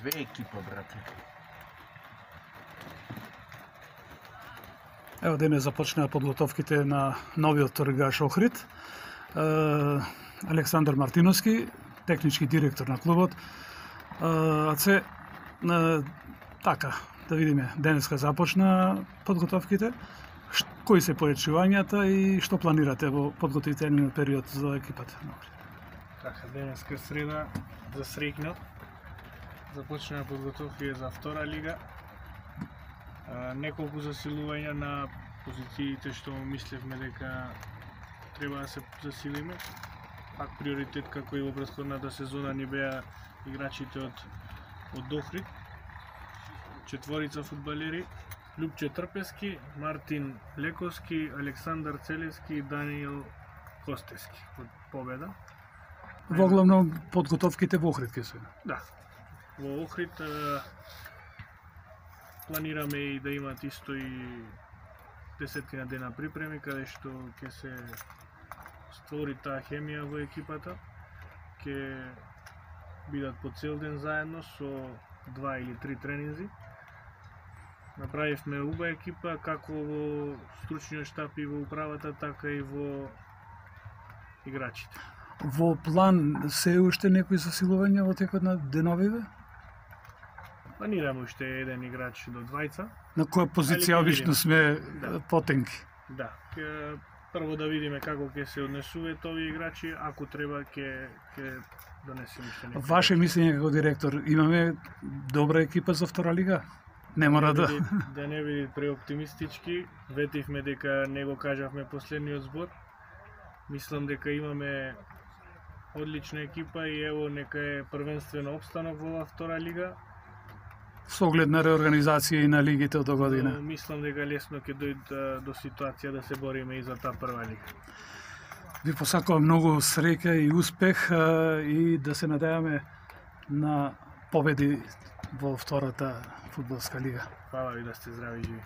две екипа, брате. Ево денес започнаа подготовките на новиот второлигаш Охрид. Александар Мартиновски, технички директор на клубот. Така, да видиме, денеска започна подготовките. Кои се поечувањата и што планирате во подготвителниот период за екипата? Така, денеска среда за среќно. Започнаа подготовки за втора лига. Неколку засилувања на позициите што мислевме дека треба да се засилиме. Пак приоритет како и во претходната сезона ни беа играчите од Охрид. 4 фудбалери: Љупче Трпески, Мартин Лековски, Александар Целевски и Даниел Костески од Победа. Во главно подготовките во Охрид ке се. Да. Во Охрид планираме и да имат исто и 10 дена припреми, каде што ќе се створи таа хемија во екипата. Ќе бидат по цел ден заедно со 2 или 3 тренинзи. Направивме убава екипа, како во стручниот штаб и во управата, така и во играчите. Во план се уште некои засилувања во текот на деновиве? Планираме уште еден играч до двајца. На која позиција обично сме потенки? Да, прво да видиме како ќе се однесуваат овие играчи, ако треба ќе донесеме уште некои. Ваше мислење како директор, имаме добра екипа за втора лига? Не мора да не биде преоптимистички, ветивме дека не го кажавме последниот збор. Мислам дека имаме одлична екипа и ево нека е првенствено опстанок во втора лига. Со оглед на реорганизација и на лигите од година. Мислам дека лесно ќе дојде до ситуација да се бориме и за таа прва лига. Ви посакувам многу среќа и успех и да се надеваме на победи во втората фудбалска лига. Фала ви, да сте здрави и живи.